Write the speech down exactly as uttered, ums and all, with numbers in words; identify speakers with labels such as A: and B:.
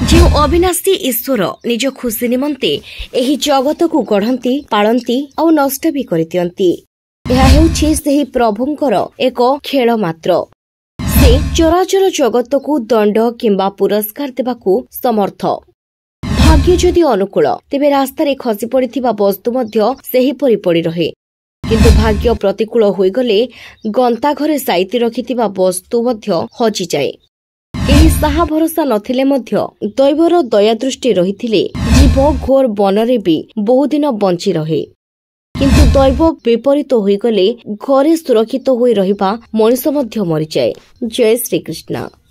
A: ଯେଉଁ ଅବିନାଶୀ ଈଶ୍ୱର ନିଜ ଖୁସି ନିମନ୍ତେ ଏହି ଜଗତକୁ ଗଢ଼ନ୍ତି, ପାଳନ୍ତି ଆଉ ନଷ୍ଟ ବି କରିଦିଅନ୍ତି, ଏହା ହେଉଛି ସେହି ପ୍ରଭୁଙ୍କର ଏକ ଖେଳ ମାତ୍ର। ସେ ଚରାଚର ଜଗତକୁ ଦଣ୍ଡ କିମ୍ବା ପୁରସ୍କାର ଦେବାକୁ ସମର୍ଥ। ଭାଗ୍ୟ ଯଦି ଅନୁକୂଳ, ତେବେ ରାସ୍ତାରେ ଖସି ପଡ଼ିଥିବା ବସ୍ତୁ ମଧ୍ୟ ସେହିପରି ପଡ଼ି ରହେ। କିନ୍ତୁ ଭାଗ୍ୟ ପ୍ରତିକୂଳ ହୋଇଗଲେ ଗନ୍ତାଘରେ ସାଇତି ରଖିଥିବା ବସ୍ତୁ ମଧ୍ୟ ହଜିଯାଏ। କେହି ସାହା ଭରସା ନଥିଲେ ମଧ୍ୟ ଦୈବର ଦୟାଦୃଷ୍ଟି ରହିଥିଲେ ଜୀବ ଘୋର ବନରେ ବି ବହୁଦିନ ବଞ୍ଚି ରହେ। କିନ୍ତୁ ଦୈବ ବିପରୀତ ହୋଇଗଲେ ଘରେ ସୁରକ୍ଷିତ ହୋଇ ରହିବା ମଣିଷ ମଧ୍ୟ ମରିଯାଏ। ଜୟ ଶ୍ରୀକୃଷ୍ଣ।